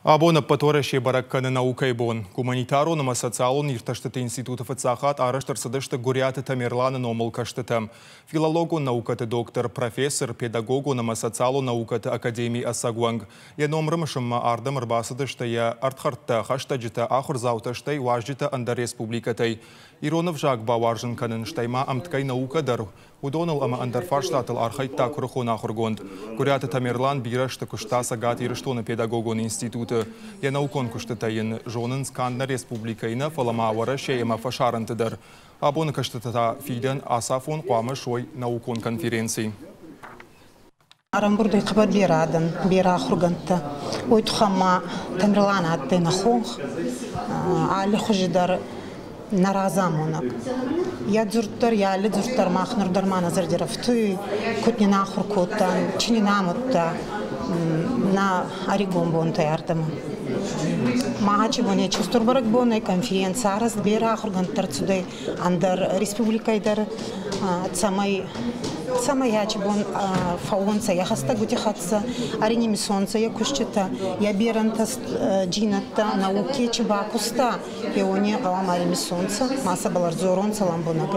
Абон ӕппӕт Уӕрӕсе бӕрӕг кӕны наукӕйы бон. Гуманитарон ӕмӕ социалон иртӕстыты институты фыццаг хатт арӕзт ӕрцыдысты Гуыриаты Тамерланы номыл кӕстытӕ. Филологон наукӕты доктор, профессор, педагогон ӕмӕ социалон наукӕты академийы ӕцӕг уӕнг. Йӕ ном рымысынмӕ ардӕм ӕрбацыдысты йӕ ӕрдхӕрдтӕ, хӕстӕджытӕ, ахуырдзаутӕ, стӕй уазджытӕ ӕндӕр республикӕтӕй. Ирон ӕвзаг бауарзын кӕнын, стӕй ма ӕмткӕй наукӕ дӕр уыдоныл ӕмӕ ӕндӕр фарстатыл архайдта куырыхон ахуыргонд. Гуыриаты Тамерлан бирӕ азты куыста Цӕгат Ирыстоны педагогон институты. Йӕ наукон куыстытӕ йын зонынц канд нӕ республикӕйы нӕ, фӕлӕ ма Уӕрӕсейы ӕмӕ фӕсарӕнты дӕр. Абоны кӕстытӕ та фидӕн ацафон хъуамӕ суой наукон конференци. Ӕрӕмбурд ӕй хъӕбӕр берӕ адӕн, берӕ ахургӕндтӕ. Уой туххӕн ма Тамерлан адтӕй нӕ хонх, аллихузи дӕр нӕ разамонӕг. Йӕ дзурд дӕр, йӕ алли дзурд дӕр мах нур дӕр ма нӕ зӕрди рӕфтуй, куд нин ахур кодтан, чи нин амудта нӕ ӕригон бонтӕй ардӕмӕ. Махачи бон ечи устур бӕрӕгбон ӕй, конференци арӕзт берӕ ахургӕндтӕ ӕрцудӕй ӕндӕр республикӕй дӕр, цӕмӕй цӕмӕй ачи бон фӕуонцӕ йӕ хӕстӕгути хӕццӕ, ӕринимисонцӕ йӕ куститӕ, йӕ берӕнтӕ джийнӕдтӕ науки чи бакуста, еуони гъӕуама ӕримисонцӕ, ма сӕбӕл ӕрдзоронцӕ лӕмбунӕг.